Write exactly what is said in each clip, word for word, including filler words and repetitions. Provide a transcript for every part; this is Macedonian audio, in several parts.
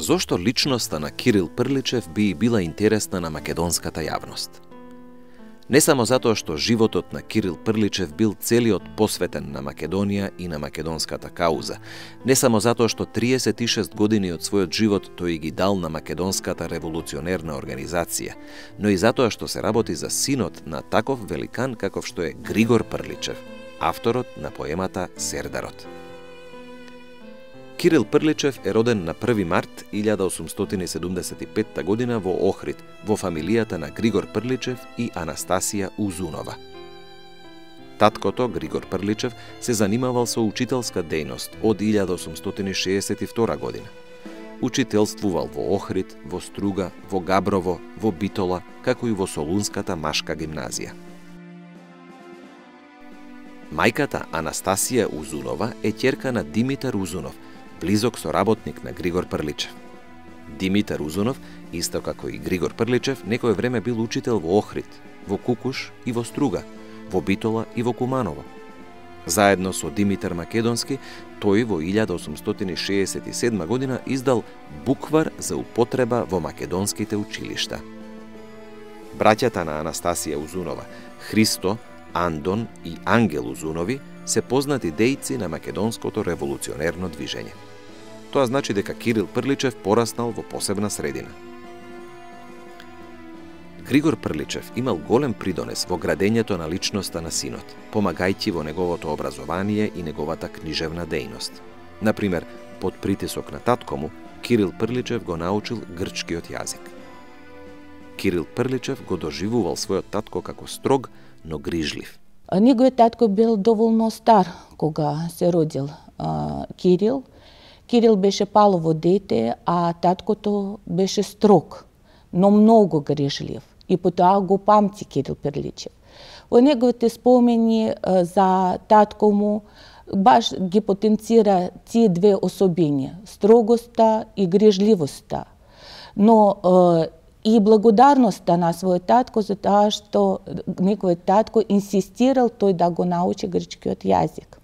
зошто личноста на Кирил Прличев би била интересна на македонската јавност? Не само затоа што животот на Кирил Прличев бил целиот посветен на Македонија и на македонската кауза, не само затоа што триесет и шест години од својот живот тој ги дал на македонската револуционерна организација, но и затоа што се работи за синот на таков великан каков што е Григор Прличев, авторот на поемата Сердарот. Кирил Прличев е роден на први март илјада осумстотини и седумдесет и петта година во Охрид, во фамилијата на Григор Прличев и Анастасија Узунова. Таткото, Григор Прличев, се занимавал со учителска дејност од илјада осумстотини шеесет и втора година. Учителствувал во Охрид, во Струга, во Габрово, во Битола, како и во Солунската машка гимназија. Мајката Анастасија Узунова е ќерка на Димитар Узунов, близок соработник на Григор Прличев. Димитар Узунов, исто како и Григор Прличев, некое време бил учител во Охрид, во Кукуш и во Струга, во Битола и во Куманово. Заедно со Димитар Македонски, тој во илјада осумстотини шеесет и седма година издал буквар за употреба во македонските училишта. Браќата на Анастасија Узунова, Христо, Андон и Ангел Узунови, се познати дејци на македонското револуционерно движење. Тоа значи дека Кирил Прличев пораснал во посебна средина. Григор Прличев имал голем придонес во градењето на личноста на синот, помагајќи во неговото образование и неговата книжевна дејност. Например, под притисок на татко му, Кирил Прличев го научил грчкиот јазик. Кирил Прличев го доживувал својот татко како строг, но грижлив. Неговиот татко бил доволно стар кога се родил а, Кирил. Кирил беше палово дете, а таткото беше строг, но многу грижлив. И потоа го памти Кирил Прличев. Во неговите спомени а, за татко му баш ги потенцира тие две особини, строгоста и грижливоста. Но а, и благодарноста на својот татко за тоа што неговиот татко инсистирал тој да го научи грчкиот јазик,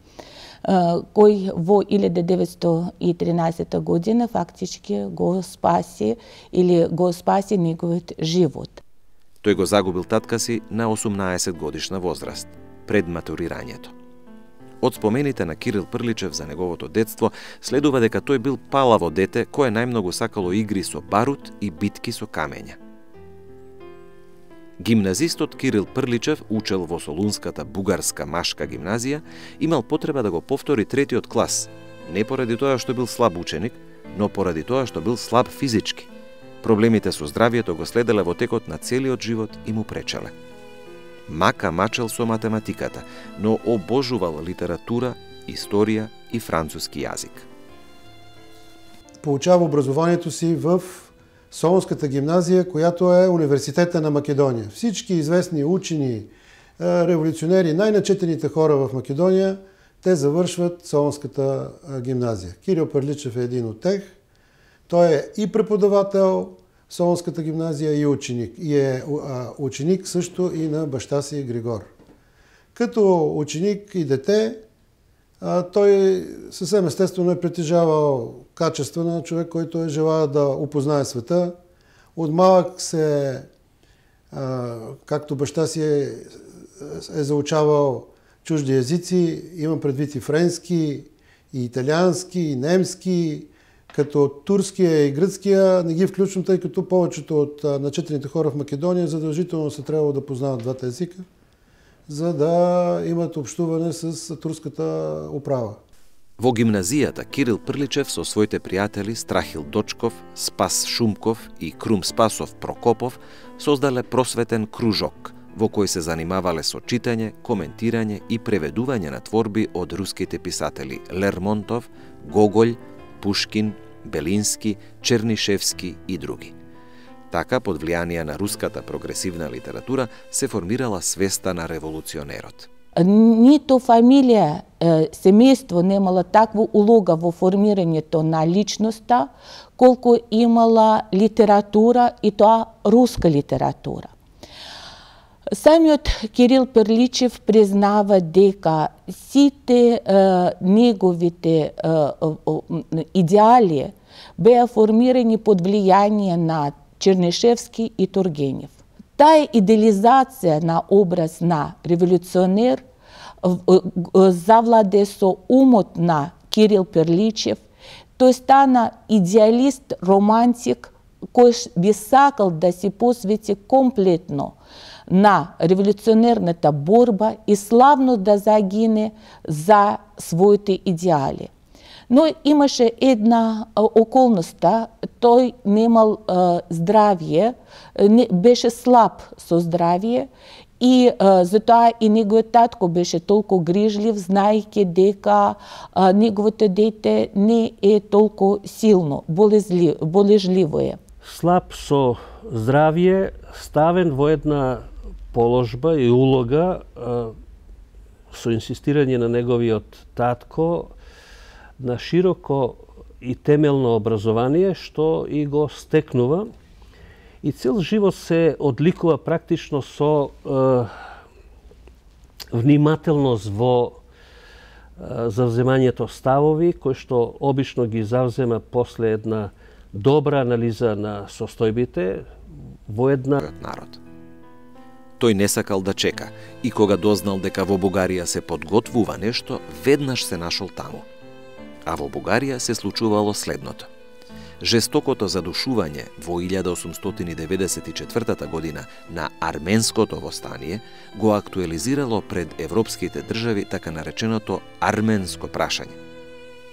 кој во илјада деветстотини и тринаесетта година фактички го спаси или го спаси неговиот живот. Тој го загубил татка си на осумнаесет годишна возраст, пред матурирањето. Од спомените на Кирил Прличев за неговото детство следува дека тој бил палаво дете кое најмногу сакало игри со барут и битки со камења. Гимназистот Кирил Прличев учел во Солунската бугарска машка гимназија, имал потреба да го повтори третиот клас, не поради тоа што бил слаб ученик, но поради тоа што бил слаб физички. Проблемите со здравието го следеле во текот на целиот живот и му пречеле. Мака мачел со математиката, но обожувал литература, историја и француски јазик. Получава образованието си в Солунската гимназија, којато е Университета на Македонија. Всички известни учени, револуционери, најначетените хора в Македонија, те завршват Солунската гимназија. Кирил Прличев е един од тех. Тој е и преподавател в Солунската гимназија и ученик. И е ученик също и на баща си Григор. Като ученик и дете, тој съвсем естествено е притежавал качества на човек, който е желая да опознае света. От малък се, както баща си е, е заучавал чужди езици, имам предвид и френски, и италиански, и немски, като турския и гръцкия не ги включвам, тъй като повечето от начетените хора в Македония задължително се трябвало да познават двата езика, за да имат общуване с турската управа. Во гимназијата Кирил Прличев со своите пријатели Страхил Дочков, Спас Шумков и Крум Спасов Прокопов создале просветен кружок, во кој се занимавале со читање, коментирање и преведување на творби од руските писатели Лермонтов, Гоголј, Пушкин, Белински, Чернишевски и други. Така, под влијание на руската прогресивна литература, се формирала свеста на револуционерот. Нито фамилија, семејство немала таква улога во формирањето на личноста, колку имала литература, и тоа руска литература. Самиот Кирил Прличев признава дека сите е, неговите е, е, идеали беа формирани под влијание на Чернишевски и Тургенев. Таа идеализација на образ на револуционер завладе со умот на Кирил Перличев. Тој стана идеалист, романтик, кој би сакал да се посвети комплетно на револуционерната борба и славно да загине за своите идеали. Но имаше една околноста, тој немал а, здравие, не, беше слаб со здравие и а, затоа и неговиот татко беше толку грижлив, знаејќи дека а, неговото дете не е толку силно, болезли, болежливо е. Слаб со здравие, ставен во една положба и улога а, со инсистирање на неговиот татко на широко и темелно образование, што и го стекнува. И цел живот се одликува практично со е, внимателност во е, завземањето ставови, кои што обично ги завзема после една добра анализа на состојбите во една народ. Тој не сакал да чека и кога дознал дека во Бугарија се подготвува нешто, веднаш се нашол таму. А во Бугарија се случувало следното. Жестокото задушување во илјада осумстотини деветдесет и четвртата година на арменското востание го актуализирало пред европските држави така нареченото арменско прашање.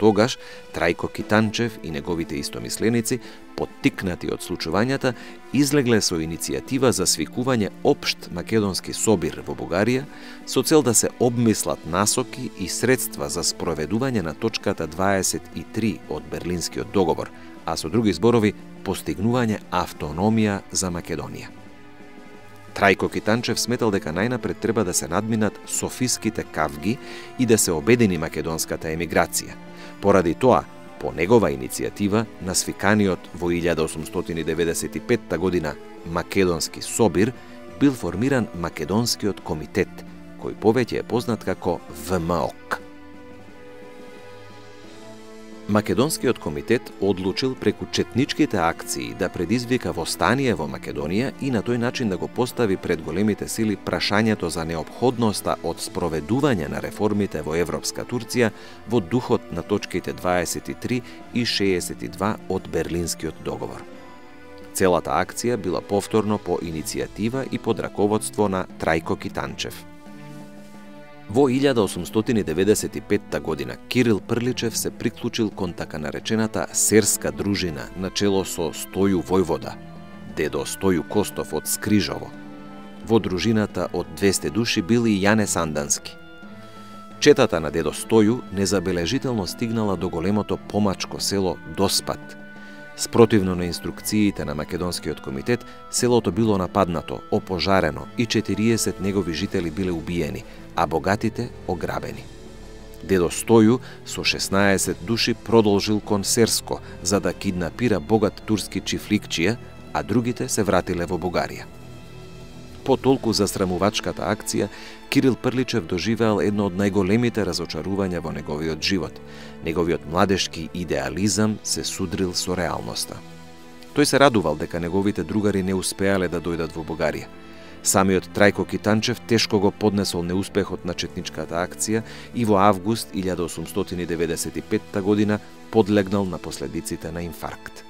Тогаш Трајко Китанчев и неговите истомисленици, поттикнати од случувањата, излегле со иницијатива за свикување општ македонски собир во Бугарија со цел да се обмислат насоки и средства за спроведување на точката дваесет и три од Берлинскиот договор, а со други зборови постигнување автономија за Македонија. Трајко Китанчев сметал дека најнапред треба да се надминат софиските кавги и да се обедини македонската емиграција. Поради тоа, по негова иницијатива, на свиканиот во илјада осумстотини деветдесет и петта година Македонски собир, бил формиран Македонскиот комитет, кој повеќе е познат како В М О К. Македонскиот комитет одлучил преку четничките акции да предизвика востание во Македонија и на тој начин да го постави пред големите сили прашањето за неопходноста од спроведување на реформите во Европска Турција во духот на точките дваесет и три и шеесет и два од Берлинскиот договор. Целата акција била повторно по иницијатива и под раководство на Трајко Китанчев. Во илјада осумстотини деветдесет и петта година Кирил Прличев се приклучил кон така наречената серска дружина на чело со Стоју Војвода, дедо Стоју Костов од Скрижово. Во дружината од двесте души бил и Јане Сандански. Четата на дедо Стоју незабележително стигнала до големото помачко село Доспат. Спротивно на инструкциите на Македонскиот комитет, селото било нападнато, опожарено и четириесет негови жители биле убиени, а богатите ограбени. Дедо Стоју со шеснаесет души продолжил кон Серско за да киднапира богат турски чифликчија, а другите се вратиле во Бугарија. По толку засрамувачката акција, Кирил Прличев доживеал едно од најголемите разочарувања во неговиот живот. Неговиот младешки идеализам се судрил со реалноста. Тој се радувал дека неговите другари не успеале да дојдат во Бугарија. Самиот Трајко Китанчев тешко го поднесол неуспехот на четничката акција и во август илјада осумстотини деветдесет и петта година подлегнал на последиците на инфаркт.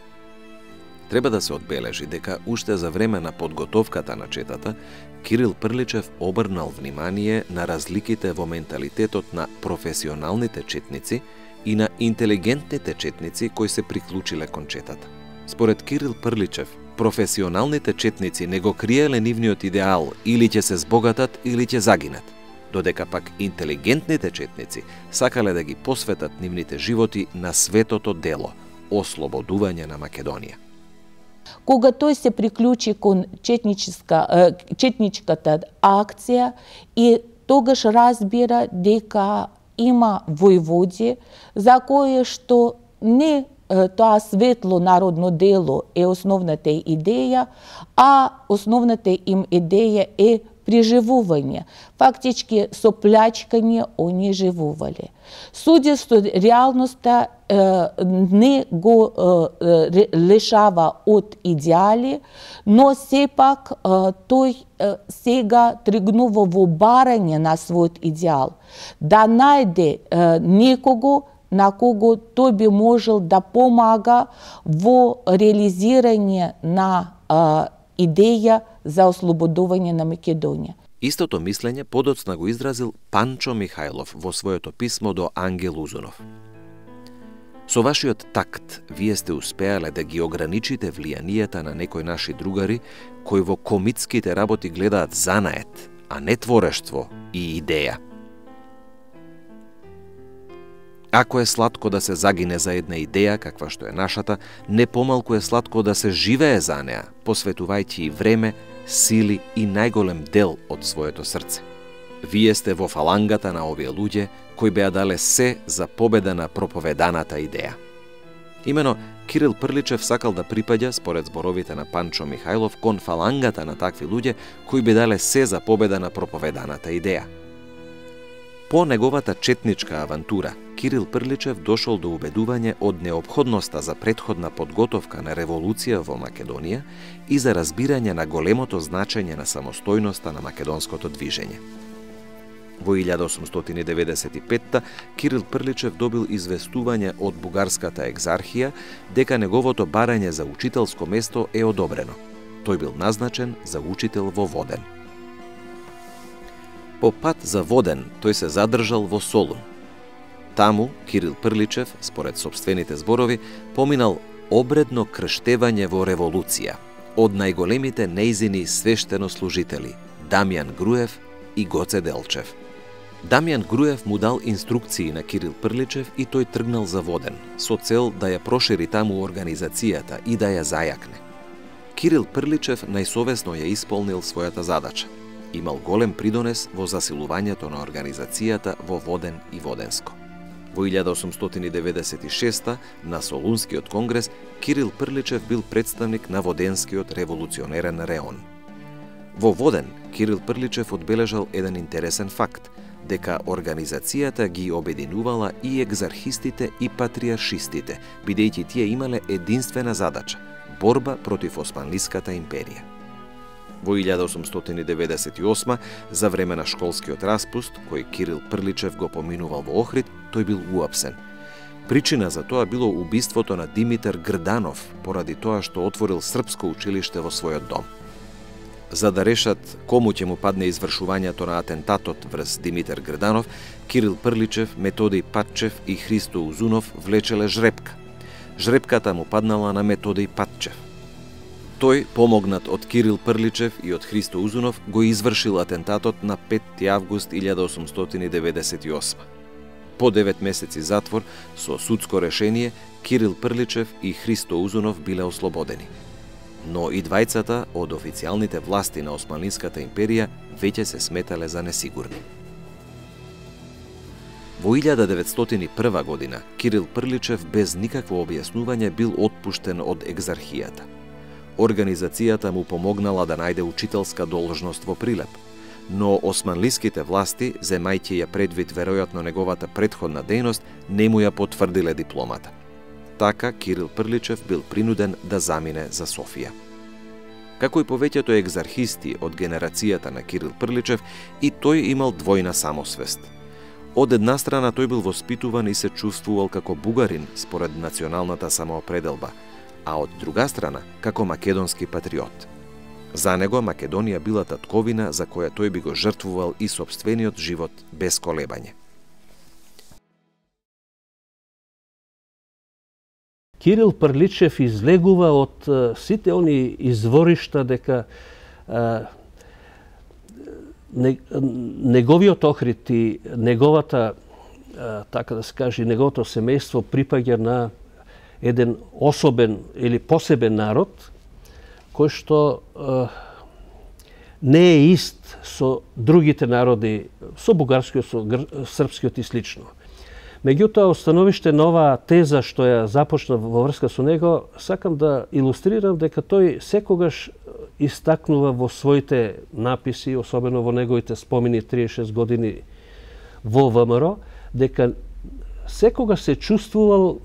Треба да се одбележи дека уште за време на подготовката на четата, Кирил Прличев обрнал внимание на разликите во менталитетот на професионалните четници и на интелигентните четници кои се приклучиле кон четата. Според Кирил Прличев, професионалните четници не го криеле нивниот идеал, или ќе се збогатат, или ќе загинат, додека пак интелигентните четници сакале да ги посветат нивните животи на светото дело – ослободување на Македонија. Кога тој се приклучи кон четничка, четничката акција и тогаш разбира дека има војводи за кое што не тоа светло народно дело е основната идеја, а основната им идеја е преживување. Фактички со плячкање они живувале. Судя што реалноста не го лишава од идеали, но сепак тој сега тргнува во барање на својот идеал, да најде некого на кого тој би можел да помага во реализирање на идеја за ослободување на Македонија. Истото мислење подоцна го изразил Панчо Михајлов во своето писмо до Ангел Узунов. Со вашиот такт, вие сте успеале да ги ограничите влијанијата на некои наши другари, кои во комитските работи гледаат занает, а не творештво и идеја. Ако е сладко да се загине за една идеја, каква што е нашата, не помалку е сладко да се живее за неа, посветувајќи и време, сили и најголем дел од своето срце. Вие сте во фалангата на овие луѓе кои беа дале се за победа на проповеданата идеја. Имено, Кирил Прличев сакал да припаѓа, според зборовите на Панчо Михајлов, кон фалангата на такви луѓе кои би дале се за победа на проповеданата идеја. По неговата четничка авантура, Кирил Прличев дошол до убедување од неопходноста за претходна подготовка на револуција во Македонија и за разбирање на големото значење на самостојноста на македонското движење. Во илјада осумстотини деветдесет и петта Кирил Прличев добил известување од бугарската екзархија дека неговото барање за учителско место е одобрено. Тој бил назначен за учител во Воден. По пат за Воден тој се задржал во Солун. Таму Кирил Прличев, според сопствените зборови, поминал обредно крштевање во револуција од најголемите нејзини свештенослужители Дамјан Груев и Гоце Делчев. Дамјан Груев му дал инструкции на Кирил Прличев и тој тргнал за Воден, со цел да ја прошири таму организацијата и да ја зајакне. Кирил Прличев најсовесно ја исполнил својата задача. Имал голем придонес во засилувањето на организацијата во Воден и Воденско. Во илјада осумстотини деветдесет и шеста на Солунскиот конгрес Кирил Прличев бил представник на Воденскиот револуционерен реон. Во Воден Кирил Прличев одбележал еден интересен факт, дека организацијата ги обединувала и екзархистите и патриаршистите, бидејќи тие имале единствена задача – борба против Османлиската империја. Во илјада осумстотини деветдесет и осма, за време на школскиот распуст, кој Кирил Прличев го поминувал во Охрид, тој бил уапсен. Причина за тоа било убиството на Димитар Грданов, поради тоа што отворил српско училиште во својот дом. За да решат кому ќе му падне извршувањето на атентатот врз Димитар Грданов, Кирил Прличев, Методиј Патчев и Христо Узунов влечеле жрепка. Жрепката му паднала на Методиј Патчев. Тој, помогнат од Кирил Прличев и од Христо Узунов, го извршил атентатот на петти август илјада осумстотини деветдесет и осма. По девет месеци затвор, со судско решение, Кирил Прличев и Христо Узунов биле ослободени. Но и двајцата од официјалните власти на Османлиската империја веќе се сметале за несигурни. Во илјада деветстотини и прва година Кирил Прличев без никакво објаснување бил отпуштен од екзархијата. Организацијата му помогнала да најде учителска должност во Прилеп, но османлиските власти, земајќи ја предвид веројатно неговата претходна дејност, не му ја потврдиле дипломата. Така Кирил Прличев бил принуден да замине за Софија. Како и повеќето екзархисти од генерацијата на Кирил Прличев, и тој имал двојна самосвест. Од една страна тој бил воспитуван и се чувствувал како бугарин според националната самоопределба, а од друга страна како македонски патриот. За него Македонија била татковина за која тој би го жртвувал и сопствениот живот без колебање. Кирил Прличев излегува од uh, сите они изворишта дека uh, не, неговиот Охрид и неговата, uh, така да се каже, неговото семејство припаѓа на еден особен или посебен народ, кој што uh, не е ист со другите народи, со бугарскиот, со српскиот и слично. Меѓутоа, остановиште на оваа теза што ја започна во врска со него, сакам да илустрирам дека тој секогаш истакнува во своите написи, особено во неговите спомени триесет и шест години во ВМРО, дека секогаш се чувствувал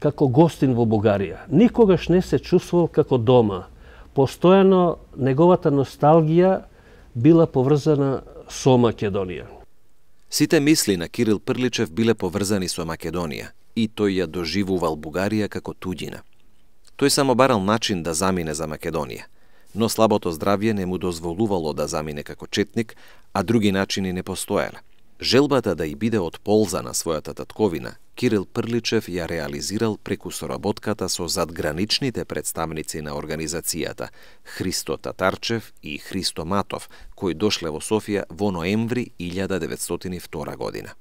како гостин во Бугарија. Никогаш не се чувствувал како дома. Постојано неговата носталгија била поврзана со Македонија. Сите мисли на Кирил Прличев биле поврзани со Македонија и тој ја доживувал Бугарија како туѓина. Тој само барал начин да замине за Македонија, но слабото здравје не му дозволувало да замине како четник, а други начини не постоеле. Желбата да и биде од полза на својата татковина, Кирил Прличев ја реализирал преку соработката со задграничните представници на организацијата Христо Татарчев и Христо Матов, кои дошле во Софија во ноември илјада деветстотини и втора година.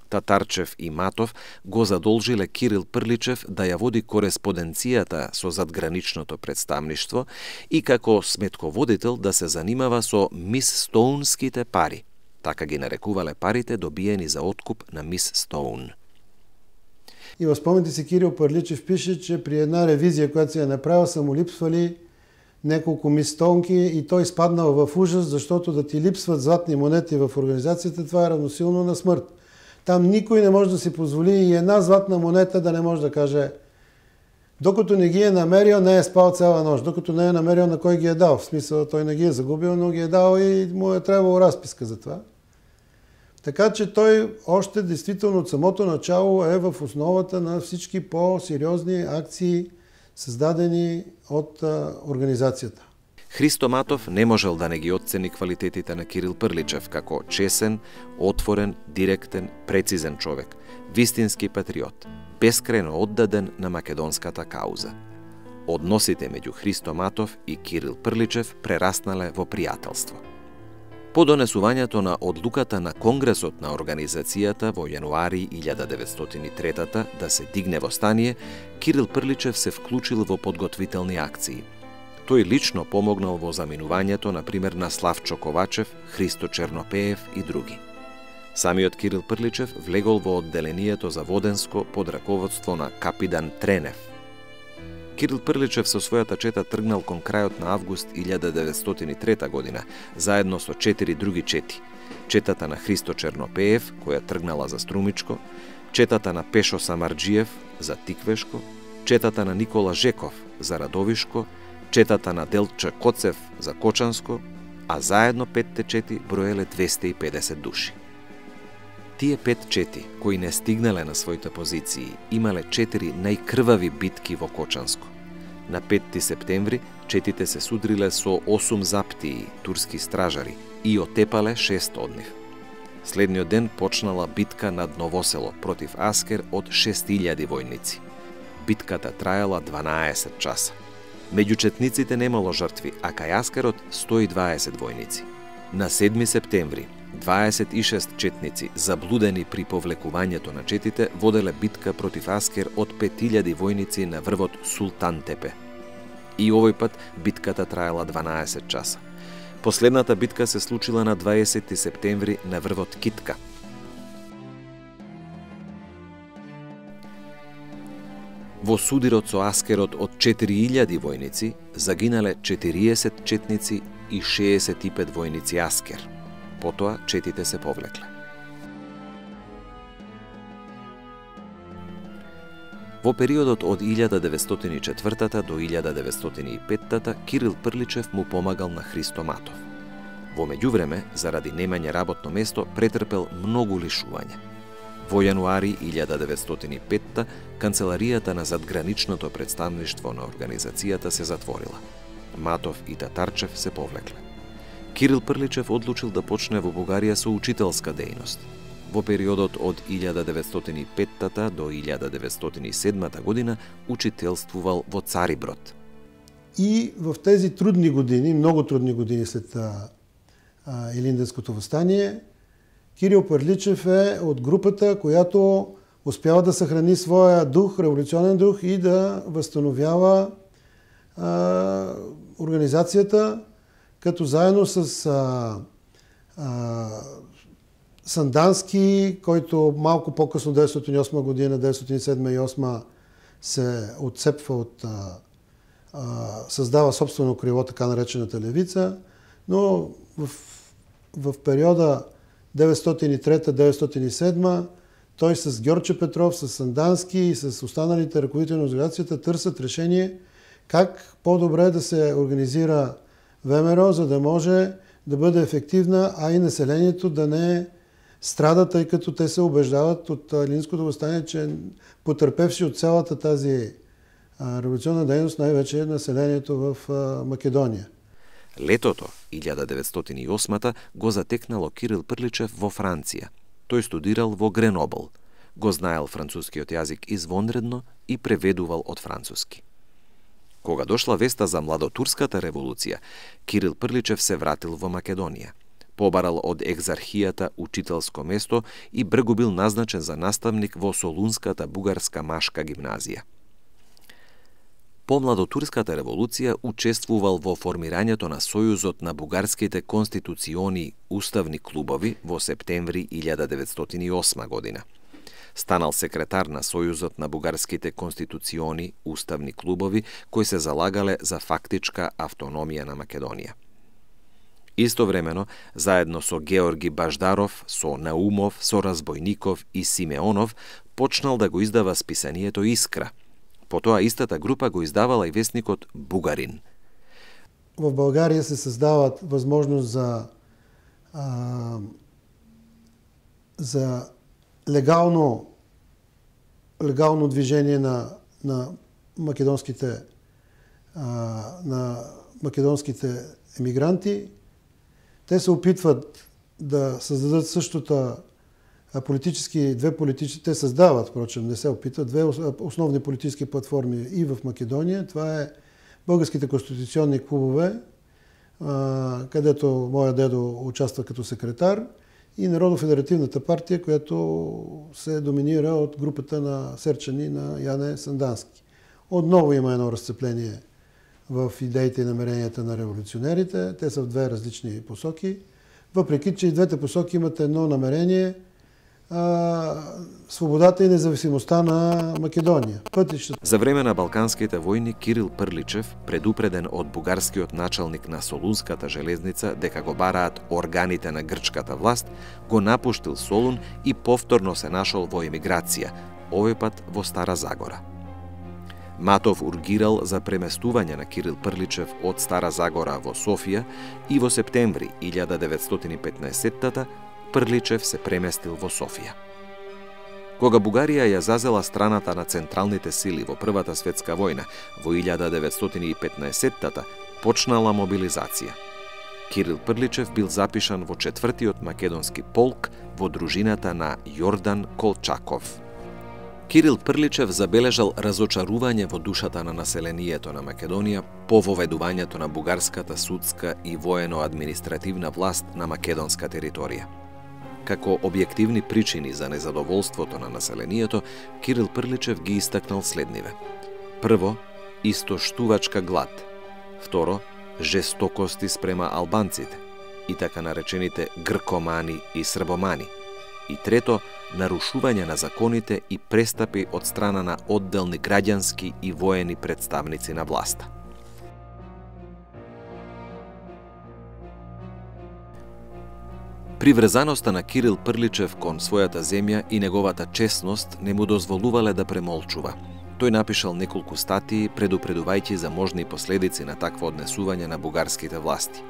Татарчев и Матов го задолжиле Кирил Прличев да ја води кореспонденцијата со задграничното представништво и како сметководител да се занимава со Мис Стоунските пари. Така ги нарекувале парите добиени за откуп на Мис Стоун. И во спомените си Кирил Прличев пише, че при една ревизија која се ја направил са му липсвали неколку Мис Стоунки и тој спаднал в ужас, заштото да ти липсват златни монети в организацијата, това е равносилно на смрт. Там никој не може да си позволи и една златна монета да не може да каже докато не ги е намерил, не е спал цела нощ. Докато не е намерил на кој ги е дал. В смисъл, тој не ги е загубил, но ги е дал и му е требало разписка за това. Така че тој още действително од самото начало е в основата на всички по-сериозни акции, создадени од организацијата. Христо Матов не можел да не ги оцени квалитетите на Кирил Прличев како чесен, отворен, директен, прецизен човек, вистински патриот, бескрајно оддаден на македонската кауза. Односите меѓу Христо Матов и Кирил Прличев прераснале во пријателство. По донесувањето на одлуката на Конгресот на организацијата во јануари илјада деветстотини и трета да се дигне востание, Кирил Прличев се вклучил во подготвителни акции. Тој лично помогнал во заминувањето, например, на Славчо Ковачев, Христо Чернопеев и други. Самиот Кирил Прличев влегол во одделението за Воденско под раководство на капитан Тренев. Кирил Прличев со својата чета тргнал кон крајот на август илјада деветстотини и трета година, заедно со четири други чети. Четата на Христо Чернопеев, која тргнала за Струмичко, четата на Пешо Самарџиев за Тиквешко, четата на Никола Жеков за Радовишко, четата на Делче Коцев за Кочанско, а заедно петте чети броеле двесте и педесет души. Тие пет чети, кои не стигнале на своите позиции, имале четири најкрвави битки во Кочанско. На петти септември четите се судриле со осум заптии, турски стражари, и отепале шест од нив. Следниот ден почнала битка над Новосело против Аскер од шест илјади војници. Битката траела дванаесет часа. Меѓу четниците немало жртви, а кај Аскерот сто и дваесет војници. На седми септември дваесет и шест четници, заблудени при повлекувањето на четите, воделе битка против Аскер од пет илјади војници на врвот Султан Тепе. И овој пат битката траела дванаесет часа. Последната битка се случила на дваесети септември на врвот Китка. Во судирот со Аскерот од четири илјади војници загинале четириесет четници и шеесет и пет војници Аскер. Потоа четите се повлекле. Во периодот од илјада деветстотини и четврта до илјада деветстотини и петта Кирил Прличев му помагал на Христо Матов. Во меѓувреме, заради немање работно место, претрпел многу лишување. Во јануари илјада деветстотини и петта канцеларијата на задграничното представништво на организацијата се затворила. Матов и Татарчев се повлекле. Кирил Прличев одлучил да почне во Бугарија со учителска дејност. Во периодот од илјада деветстотини и петта до илјада деветстотини и седма година учителствувал во Цариброд. И в тези трудни години, много трудни години след Илинденското востание, Кирил Прличев е од групата којато успява да сохрани своја дух, револуционен дух и да възстановява а, организацијата, като заедно с а, а, Сандански, който малко по-късно, деветстотини и осма година, деветстотини и седма и осма, се отцепва от а, създава собствено криво, така наречената левица, но в, в периода деветстотин и трета - деветстотин и седма той с Георче Петров, с Сандански и с останалите ръководители на организацията търсят решение как по-добре да се организира ВМРО, за да може да бъде ефективна, а и населението да не страда, тъй като те се убеждават от Илиндското въстание, че потърпевши от цялата тази революционна дейност, най-вече населението в Македония. Летото илјада деветстотин и осма го затекнало Кирил Прличев во Франција. Тој студирал во Гренобл. Го знаел францускиот јазик извонредно и преведувал од француски. Кога дошла веста за младотурската револуција, Кирил Прличев се вратил во Македонија. Побарал од екзархијата учителско место и бргу бил назначен за наставник во Солунската бугарска машка гимназија. По младотурската револуција учествувал во формирањето на Сојузот на бугарските конституциони уставни клубови во септември илјада деветстотин и осма година. Станал секретар на Сојузот на бугарските конституциони уставни клубови кои се залагале за фактичка автономија на Македонија. Истовремено, заедно со Георги Баждаров, со Наумов, со Разбојников и Симеонов, почнал да го издава списанието Искра. Потоа истата група го издавала и вестникот Бугарин. В Българија се създават възможност за, а, за легално, легално движение на, на македонските, а, на македонските емигранти. Те се опитват да създадат същото политически, две политически, те създават, впрочем, не се опитват, две основни политически платформи и в Македония. Това е българските конституционни клубове, където моя дедо участва като секретар, и Народно-федеративната партия, която се доминира от групата на Серчани на Яне Сандански. Отново има едно разцепление в идеите и намеренията на революционерите. Те са в две различни посоки. Въпреки че и двете посоки имат едно намерение – свободата и независимостта на Македонија. Пътищата. За време на Балканските војни Кирил Прличев, предупреден од бугарскиот началник на Солунската железница дека го бараат органите на грчката власт, го напуштил Солун и повторно се нашол во емиграција, овој пат во Стара Загора. Матов ургирал за преместување на Кирил Прличев од Стара Загора во Софија и во септември илјада деветстотин и петнаесетта Прличев се преместил во Софија. Кога Бугарија ја зазела страната на централните сили во Првата светска војна во илјада деветстотин и петнаесетта, почнала мобилизација. Кирил Прличев бил запишан во четвртиот македонски полк во дружината на Јордан Колчаков. Кирил Прличев забележал разочарување во душата на населението на Македонија по воведувањето на бугарската судска и воено-административна власт на македонска територија. Како објективни причини за незадоволството на населението, Кирил Прличев ги истакнал следниве. Прво, истоштувачка глад. Второ, жестокости спрема албанците и така наречените гркомани и србомани. И трето, нарушување на законите и престапи од страна на одделни граѓански и воени представници на власта. Приврзаноста на Кирил Прличев кон својата земја и неговата честност не му дозволувале да премолчува. Тој напишал неколку статии предупредувајќи за можни последици на такво однесување на бугарските власти.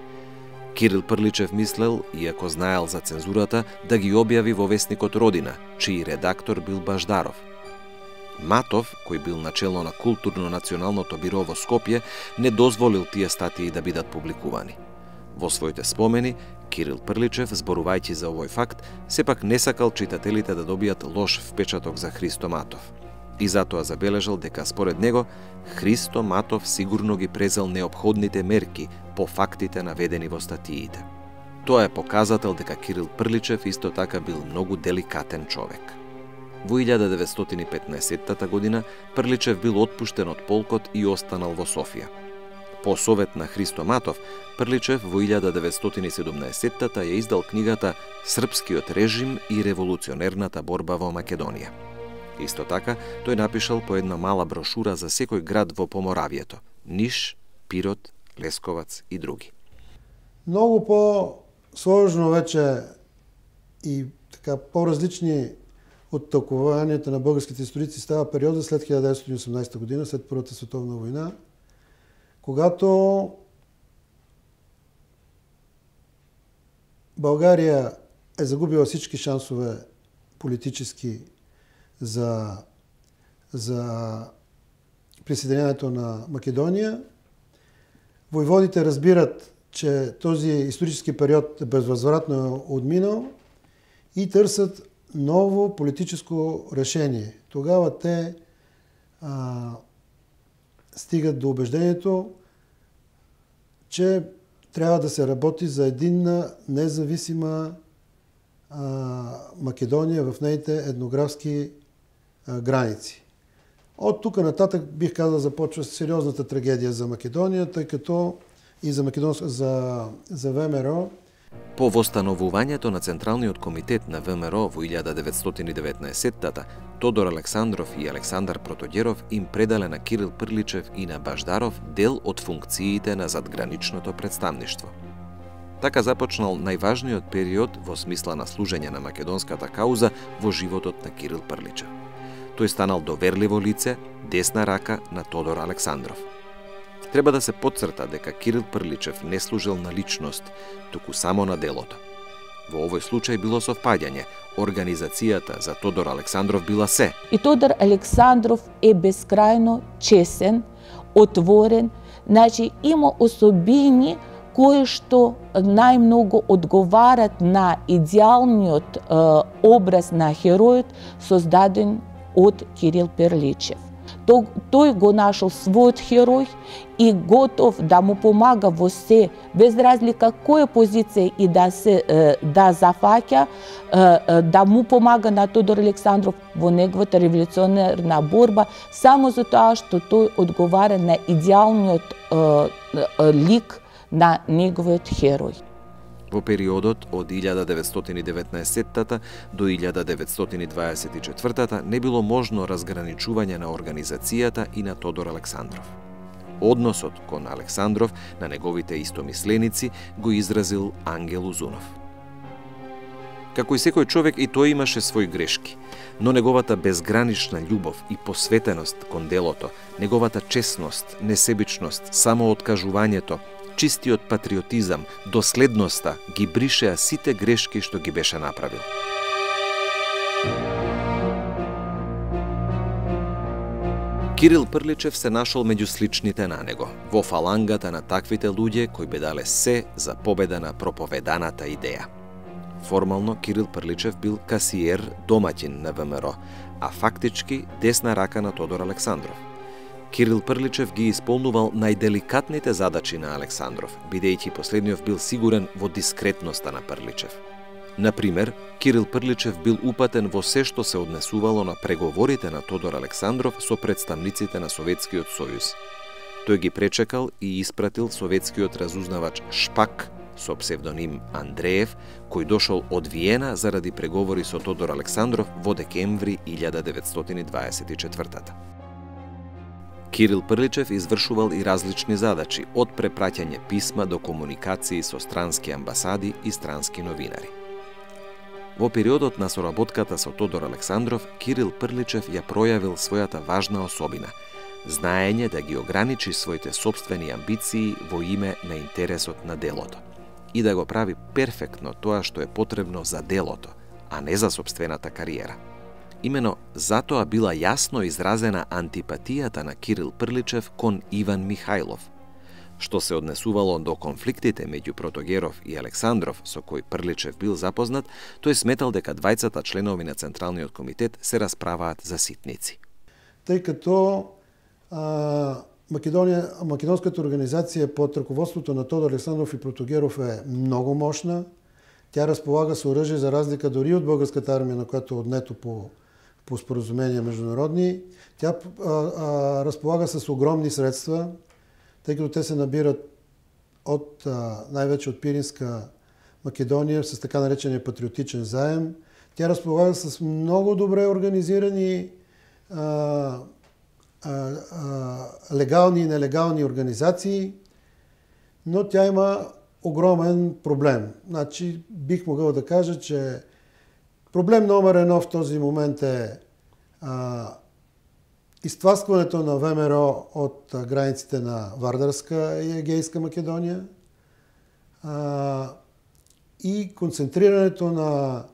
Кирил Прличев мислел, иако знаел за цензурата, да ги објави во вестникот Родина, чиј редактор бил Баждаров. Матов, кој бил начело на културно-националното биро во Скопје, не дозволил тие статии да бидат публикувани. Во своите спомени, Кирил Прличев, зборувајќи за овој факт, сепак не сакал читателите да добијат лош впечаток за Христо Матов. И затоа забележал дека според него Христо Матов сигурно ги презел неопходните мерки по фактите наведени во статиите. Тоа е показател дека Кирил Прличев исто така бил многу деликатен човек. Во илјада деветстотин и петнаесетта година Прличев бил отпуштен од полкот и останал во Софија. По совет на Христо Матов, Прличев во илјада деветстотин и седумнаесетта ја издал книгата Српскиот режим и револуционерната борба во Македонија. Исто така, тој напишал по една мала брошура за секој град во Поморавието, Ниш, Пирот, Лесковац и други. Многу по-сложно вече и така по-различни од толкувањето на българските историци става периода след хиляда деветстотини и осумнаесета година, след Првата световна војна, когато Българија е загубила всички шансове политически за, за присъединяването на Македонија. Војводите разбират, че този исторически период е безвъзвратно отминал и търсят ново политическо решение. Тогава те а, стигат до убеждението, че трябва да се работи за единна, независима а, Македония в нейните етнографски а, граници. От тук нататък бих казал започва сериозната трагедия за Македония, тъй като и за, Македонск... за, за ВМРО. По востановувањето на Централниот комитет на ВМРО во илјада деветстотини и деветнаесеттата, Тодор Александров и Александар Протоѓеров им предале на Кирил Прличев и на Баждаров дел од функциите на задграничното представништво. Така започнал најважниот период во смисла на служење на македонската кауза во животот на Кирил Прличев. Тој станал доверливо лице, десна рака на Тодор Александров. Треба да се потцрта дека Кирил Прличев не служил на личност, туку само на делото. Во овој случај било совпаѓање. Организацијата за Тодор Александров била се. И Тодор Александров е безкрајно чесен, отворен, значи има особини кои што најмногу одговарат на идеалниот е, образ на херојот создаден од Кирил Прличев. Тој, тој го нашол својот херој и готов да му помага во се, без разлика која позиција и да се да зафаќа, да му помага на Тодор Александров во неговата револуционерна борба, само за тоа што тој одговара на идеалниот лик на неговиот херој. Во периодот од илјада деветстотини и деветнаесеттата до илјада деветстотини и дваесет и четвртата не било можно разграничување на организацијата и на Тодор Александров. Односот кон Александров на неговите истомисленици го изразил Ангел Узунов. Како и секој човек, и тој имаше своји грешки, но неговата безгранична љубов и посветеност кон делото, неговата честност, несебичност, самооткажувањето, чистиот патриотизам, доследноста ги бришеа сите грешки што ги беше направил. Кирил Прличев се нашол меѓу сличните на него, во фалангата на таквите луѓе кои бе дале се за победа на проповеданата идеја. Формално Кирил Прличев бил касиер, домаќин на ВМРО, а фактички десна рака на Тодор Александров. Кирил Прличев ги исполнувал најделикатните задачи на Александров, бидејќи последниот бил сигурен во дискретноста на Прличев. Например, Кирил Прличев бил упатен во се што се однесувало на преговорите на Тодор Александров со представниците на Советскиот сојуз. Тој ги пречекал и испратил советскиот разузнавач Шпак со псевдоним Андреев, кој дошол од Виена заради преговори со Тодор Александров во декември илјада деветстотини и дваесет и четвртата. Кирил Прличев извршувал и различни задачи, од препраќање писма до комуникации со странски амбасади и странски новинари. Во периодот на соработката со Тодор Александров, Кирил Прличев ја пројавил својата важна особина – знаење да ги ограничи своите собствени амбиции во име на интересот на делото и да го прави перфектно тоа што е потребно за делото, а не за собствената кариера. Имено затоа била јасно изразена антипатијата на Кирил Прличев кон Иван Михајлов. Што се однесувало до конфликтите меѓу Протоѓеров и Александров, со кој Прличев бил запознат, тој сметал дека двајцата членови на Централниот комитет се расправаат за ситници. Тъй като а, Македония, македонската организација под раководството на Тодор Александров и Протоѓеров е многу мощна. Тя разполага со оръжие за разлика дори од българската армија, на която е однето по по споразумения международни. Тя а, а, разполага с огромни средства, тъй като те се набират от, а, най-вече от Пиринска Македония с така наречения патриотичен заем. Тя разполага с много добре организирани а, легални и нелегални организации, но тя има огромен проблем. Значи, бих могъл да кажа, че проблем номер едно в този момент е а, изтласкването на ВМРО от а, границите на Вардарска и Егейска Македония а, и концентрирането на,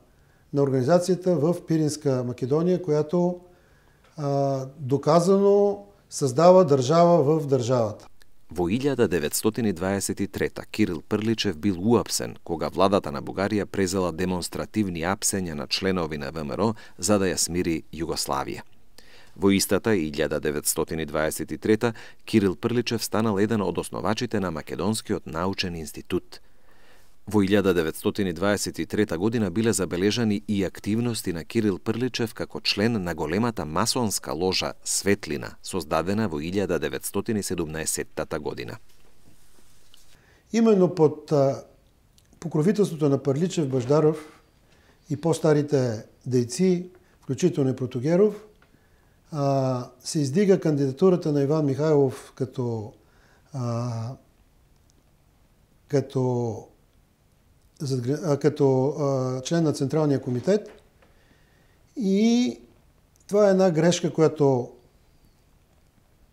на организацията в Пиринска Македония, която а, доказано създава държава в държавата. Во илјада деветстотини дваесет и трета Кирил Прличев бил уапсен кога владата на Бугарија презела демонстративни апсења на членови на ВМРО за да ја смири Југославија. Во истата илјада деветстотини дваесет и трета Кирил Прличев станал еден од основачите на Македонскиот научен институт. Во илјада деветстотини дваесет и трета година биле забележани и активности на Кирил Прличев како член на големата масонска ложа Светлина, создадена во илјада деветстотини седумнаесеттата година. Именно под а, покровителството на Прличев, Баждаров и по-старите дейци, включително и Протогеров, а, се издига кандидатурата на Иван Михайлов като, а, като като а, член на Централния комитет, и това е една грешка, която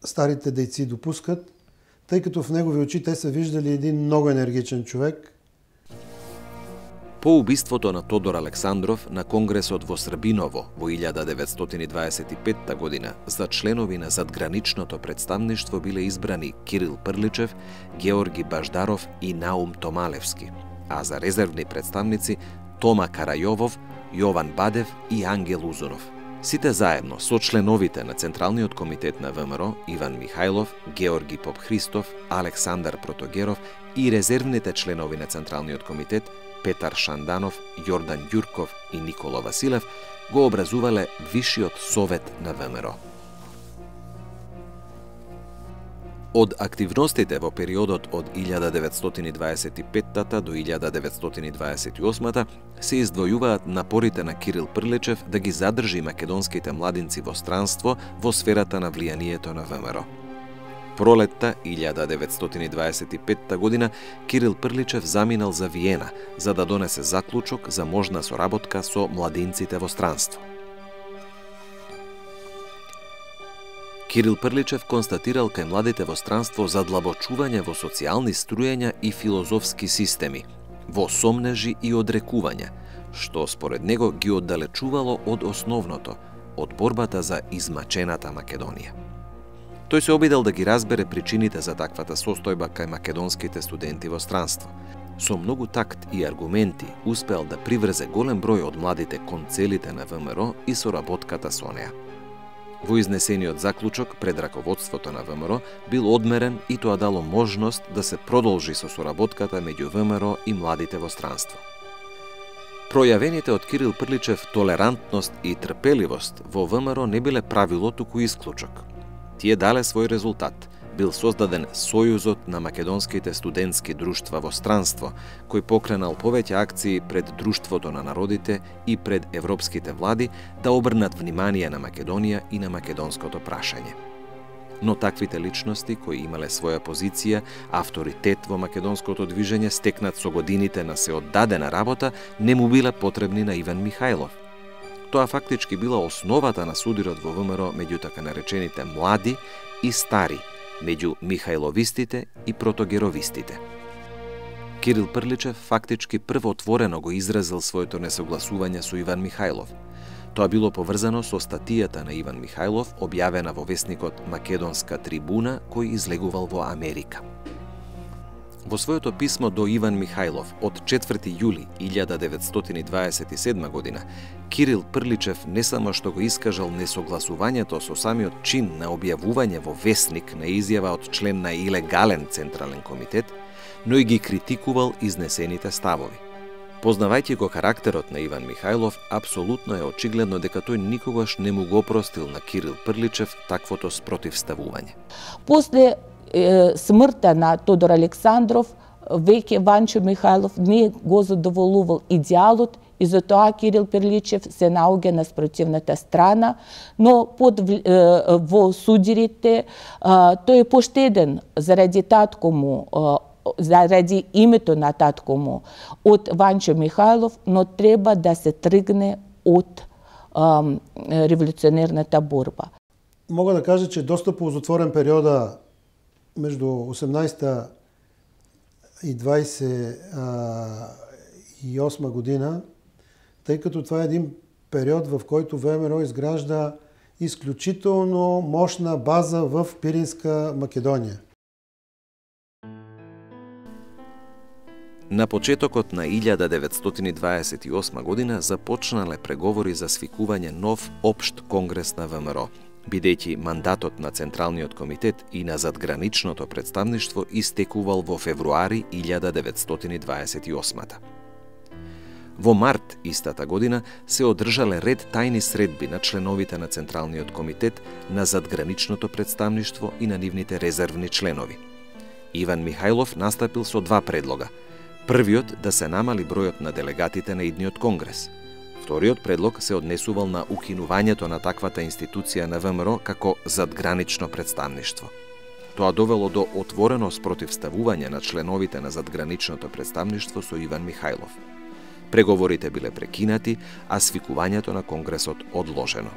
старите дейци допускат, тъй като в негови очи те са виждали един много енергичен човек. По убиството на Тодор Александров на Конгресот во Србиново во илјада деветстотини дваесет и петта година за членови на задграничното представништво биле избрани Кирил Прличев, Георги Баждаров и Наум Томалевски, а за резервни представници Тома Карајовов, Јован Бадев и Ангел Узунов. Сите заедно со членовите на Централниот комитет на ВМРО Иван Михајлов, Георги Попхристов, Александар Протогеров и резервните членови на Централниот комитет Петар Шанданов, Јордан Ѓурков и Никола Василев го образувале Вишиот совет на ВМРО. Од активностите во периодот од илјада деветстотини дваесет и петта до илјада деветстотини дваесет и осмата се издвојуваат напорите на Кирил Прличев да ги задржи македонските младинци во странство во сферата на влијанието на ВМРО. Пролетта илјада деветстотини дваесет и петта година Кирил Прличев заминал за Виена за да донесе заклучок за можна соработка со младинците во странство. Кирил Прличев констатирал кај младите во странство задлабочување во социјални струјања и филозофски системи, во сомнежи и одрекувања, што според него ги оддалечувало од основното, од борбата за измачената Македонија. Тој се обидел да ги разбере причините за таквата состојба кај македонските студенти во странство. Со многу такт и аргументи успеал да приврзе голем број од младите кон целите на ВМРО и соработката со неа. Во изнесениот заклучок пред раководството на ВМРО бил одмерен и тоа дало можност да се продолжи со соработката меѓу ВМРО и младите во странство. Пројавените од Кирил Прличев толерантност и трпеливост во ВМРО не биле правило, туку исклучок. Тие дале свој резултат. Бил создаден Сојузот на македонските студентски друштва во странство, кој покренал повеќе акции пред Друштвото на народите и пред европските влади да обрнат внимание на Македонија и на македонското прашање. Но таквите личности, кои имале своја позиција, авторитет во македонското движење, стекнат со годините на се оддадена работа, не му биле потребни на Иван Михајлов. Тоа фактички била основата на судирот во ВМРО меѓу така наречените млади и стари, меѓу Михајловистите и Протогеровистите. Кирил Прличев фактички прво отворено го изразил своето несогласување со Иван Михајлов. Тоа било поврзано со статијата на Иван Михајлов, објавена во весникот Македонска трибуна, кој излегувал во Америка. Во своето писмо до Иван Михајлов од четврти јули илјада деветстотини дваесет и седма година, Кирил Прличев не само што го искажал несогласувањето со самиот чин на објавување во весник на изјава од член на илегален Централен комитет, но и ги критикувал изнесените ставови. Познавајќи го карактерот на Иван Михајлов, апсолутно е очигледно дека тој никогаш не му го простил на Кирил Прличев таквото спротивставување. После смртта на Тодор Александров, веќе Ванчо Михајлов не го задоволувал идеалот и затоа Кирил Перличев се наоѓа на спротивната страна, но под во судирите тој е поштеден заради татко му, заради името на татко му од Ванчо Михајлов, но треба да се тргне од револуционерната борба. Мога да кажа, че доста ползотворен периода меѓу осемнаесетта и дваесет и осма година, тъй като това е един период, в който ВМРО изгражда изключително мощна база в Пиринска Македонија. На почетокот на илјада деветстотини дваесет и осма година започнале преговори за свикување нов општ конгрес на ВМРО, бидејќи мандатот на Централниот комитет и на задграничното представништво истекувал во февруари илјада деветстотини дваесет и осмата. Во март истата година се одржале ред тајни средби на членовите на Централниот комитет, на задграничното представништво и на нивните резервни членови. Иван Михајлов настапил со два предлога. Првиот да се намали бројот на делегатите на идниот конгрес. Вториот предлог се однесувал на укинувањето на таквата институција на ВМРО како задгранично представништво. Тоа довело до отворено спротивставување на членовите на задграничното представништво со Иван Михајлов. Преговорите биле прекинати, а свикувањето на конгресот одложено.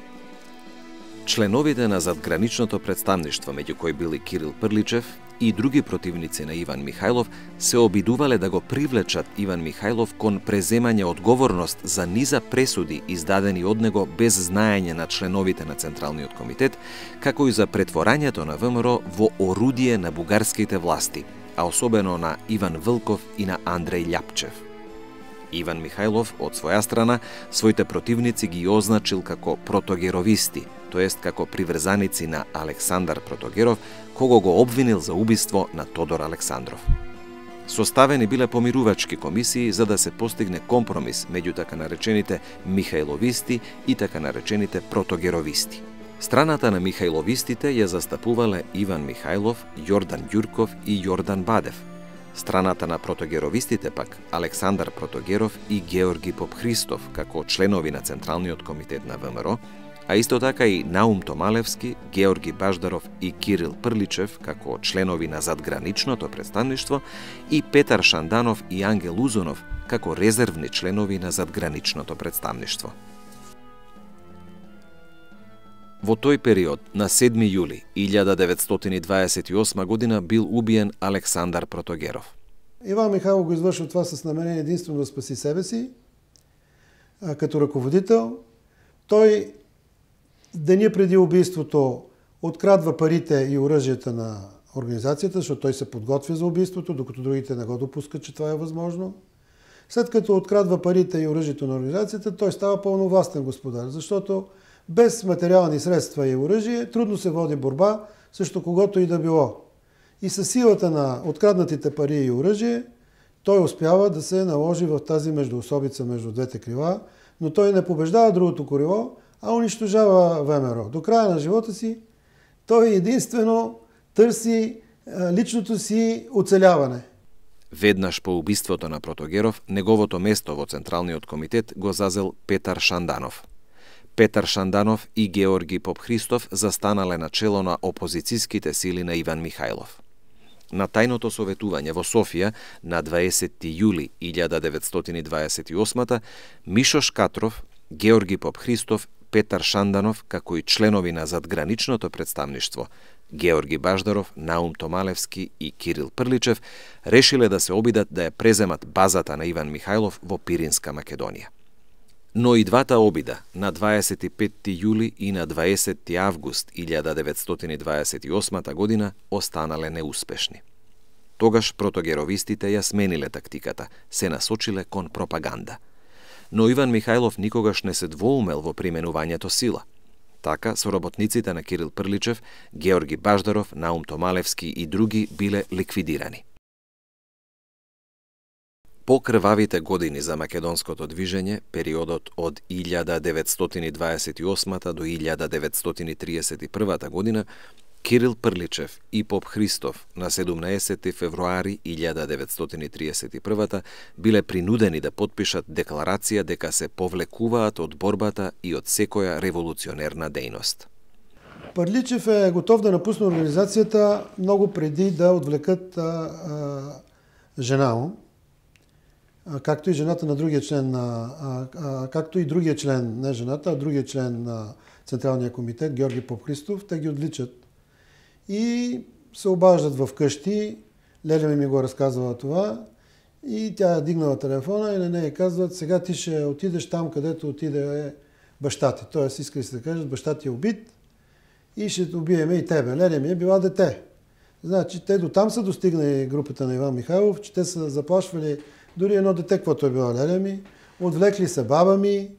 Членовите на задграничното представништво, меѓу кои били Кирил Прличев и други противници на Иван Михајлов, се обидувале да го привлечат Иван Михајлов кон преземање одговорност за низа пресуди издадени од него без знаење на членовите на Централниот комитет, како и за претворањето на ВМРО во орудие на бугарските власти, а особено на Иван Вилков и на Андреј Љапчев. Иван Михајлов, од своја страна, своите противници ги означил како протогеровисти, тоест како приврзаници на Александар Протогеров, кого го обвинил за убиство на Тодор Александров. Составени биле помирувачки комисии за да се постигне компромис меѓу така наречените Михајловисти и така наречените протогеровисти. Страната на Михајловистите ја застапувале Иван Михајлов, Јордан Ѓурков и Јордан Бадев. Страната на протогеровистите пак Александар Протогеров и Георги Попхристов како членови на Централниот комитет на ВМРО, а исто така и Наум Томалевски, Георги Баждаров и Кирил Прличев како членови на задграничното представништво и Петар Шанданов и Ангел Узунов како резервни членови на задграничното представништво. Во тој период, на седми јули илјада деветстотини дваесет и осма година, бил убиен Александар Протогеров. Иван Михајлов го извършил това с намерение единствено да спаси себе си, а, като ръководител. Той деня преди убийството открадва парите и оръжията на организацията, защото той се подготвя за убийството, докато другите не го допускат, че това е възможно. След като открадва парите и оръжието на организацията, той става пълновластен господар, защото без материални средства и оръжие трудно се води борба срещу когото и да било. И със силата на откраднатите пари и оръжие, той успява да се наложи в тази междуособица между двете крила, но той не побеждава другото крило, а унищожава ВМРО. До края на живота си той единствено търси личното си оцеляване. Веднаш по убиството на Протогеров, неговото место во Централниот комитет го зазел Петар Шанданов. Петар Шанданов и Георги Попхристов застанале на чело на опозицијските сили на Иван Михајлов. На тајното советување во Софија на дваесети јули илјада деветстотини дваесет и осма Мишо Шкатров, Георги Попхристов, Петар Шанданов, како и членови на задграничното представништво, Георги Баждаров, Наум Томалевски и Кирил Прличев, решиле да се обидат да ја преземат базата на Иван Михајлов во Пиринска Македонија. Но и двата обида, на дваесет и петти јули и на дваесети август илјада деветстотини дваесет и осма година, останале неуспешни. Тогаш протогеровистите ја смениле тактиката, се насочиле кон пропаганда. Но Иван Михајлов никогаш не се двоумел во применувањето сила. Така, соработниците на Кирил Прличев, Георги Баждаров, Наум Томалевски и други биле ликвидирани. По крвавите години за македонското движење, периодот од илјада деветстотини дваесет и осма до илјада деветстотини триесет и прва година, Кирил Прличев и поп Христов на седумнаесети февруари илјада деветстотини триесет и прва биле принудени да потпишат декларација дека се повлекуваат од борбата и од секоја револуционерна дејност. Прличев е готов да напусне организацијата многу преди да одвлекат а, а, жена му, а, както и жената на другиот член на а, а, както и другиот член, не жената, а другиот член на Централниот комитет Георги Поп Христов, те ги одличат и се обаждат в къщи. Леля ми ми го разказвала това и тя е дигнала телефона и на нея казват: сега ти ще отидеш там, където отиде баща ти. Тоест, искали се да кажат, баща ти е убит и ще убиеме и тебе. Леля ми е била дете. Значи, те до там са достигнали групата на Иван Михайлов, че те са заплашвали дори едно дете, каквото е била Леля ми, отвлекли са баба ми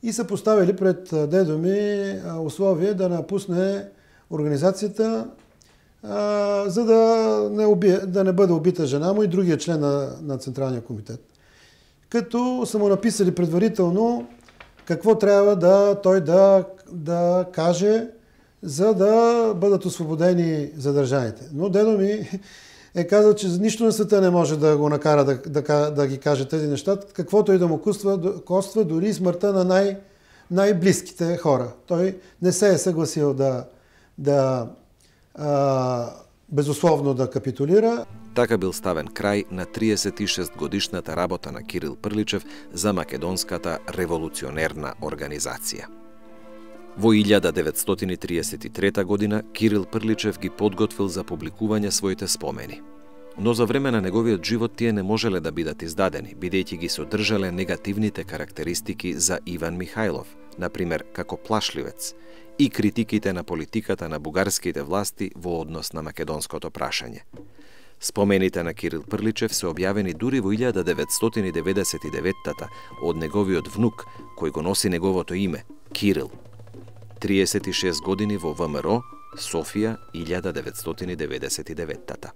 и са поставили пред дедо ми условие да напусне организацията, а, за да не, уби, да не бъде убита жена му и другия член на, на Централния комитет. Като са му написали предварително какво трябва да той да, да каже, за да бъдат освободени задържаните. Но дедо ми е казал, че нищо на света не може да го накара да, да, да ги каже тези неща, каквото и да му коства, коства дори смъртта на най, най-близките хора. Той не се е съгласил да да а, безусловно да капитулира. Така бил ставен крај на триесет и шест годишната работа на Кирил Прличев за македонската револуционерна организација. Во илјада деветстотини триесет и трета година Кирил Прличев ги подготвил за публикување своите спомени. Но за време на неговиот живот тие не можеле да бидат издадени, бидејќи ги содржале негативните карактеристики за Иван Михайлов, например како плашливец, и критиките на политиката на бугарските власти во однос на македонското прашање. Спомените на Кирил Прличев се објавени дури во илјада деветстотини деветдесет и девета од неговиот внук, кој го носи неговото име, Кирил. триесет и шест години во ВМРО, Софија, илјада деветстотини деветдесет и девета.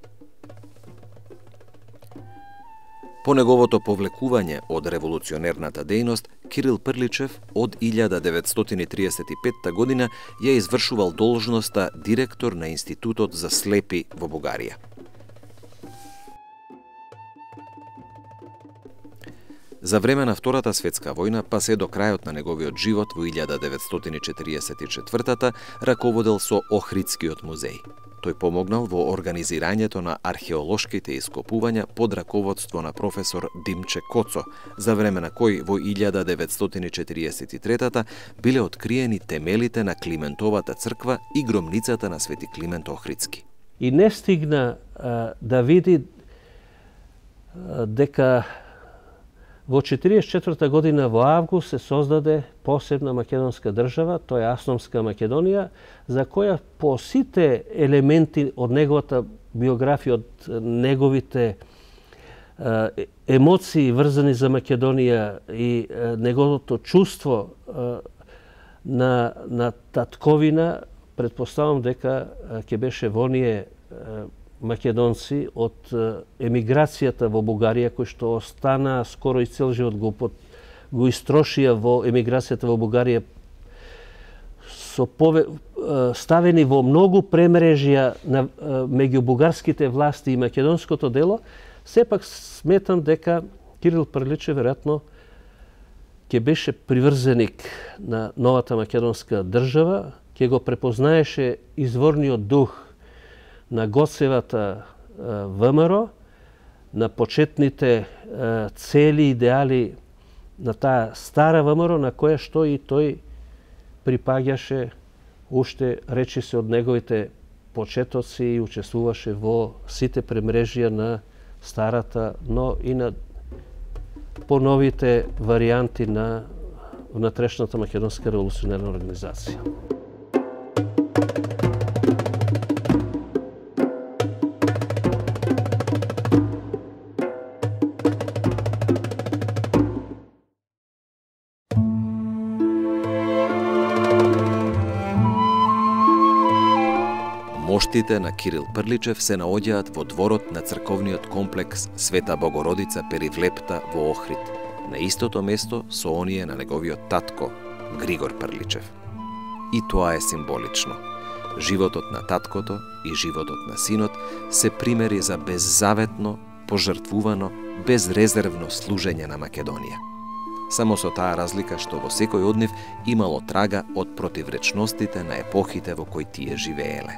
По неговото повлекување од револуционерната дејност, Кирил Прличев од илјада деветстотини триесет и петта година ја извршувал должноста директор на Институтот за слепи во Бугарија. За време на Втората светска војна, па се до крајот на неговиот живот во илјада деветстотини четириесет и четврта раководел со Охридскиот музеј. Тој помогнал во организирањето на археолошките ископувања под раководство на професор Димче Коцо, за време на кој во илјада деветстотини четириесет и трета биле откриени темелите на Климентовата црква и громницата на Свети Климент Охридски. И не стигна а, да види а, дека во четириесет и четврта година во август се создаде посебна македонска држава, тоа е Автономска Македонија, за која по сите елементи од неговата биографија, од неговите е, емоции врзани за Македонија и е, неговото чувство е, на, на татковина, предпоставам дека ќе беше во оние македонци од емиграцијата во Бугарија, кои што остана скоро и цел живот го, го истрошија во емиграцијата во Бугарија, со пове, ставени во многу премрежја на меѓу бугарските власти и македонското дело, сепак сметам дека Кирил Прличев веројатно ќе беше приврзеник на новата македонска држава, ќе го препознаеше изворниот дух на Гоцевата ВМРО, на почетните цели и идеали на таа стара ВМРО, на која што и тој припаѓаше, уште речи се од неговите почетоци и учествуваше во сите премрежија на старата, но и на поновите варијанти на внатрешната македонска револуционерна организација. Моштите на Кирил Прличев се наоѓаат во дворот на црковниот комплекс Света Богородица Перивлепта во Охрид, на истото место со оние на неговиот татко, Григор Прличев. И тоа е символично. Животот на таткото и животот на синот се примери за беззаветно, пожртвувано, безрезервно служење на Македонија. Само со таа разлика што во секој од нив имало трага од противречностите на епохите во кои тие живееле.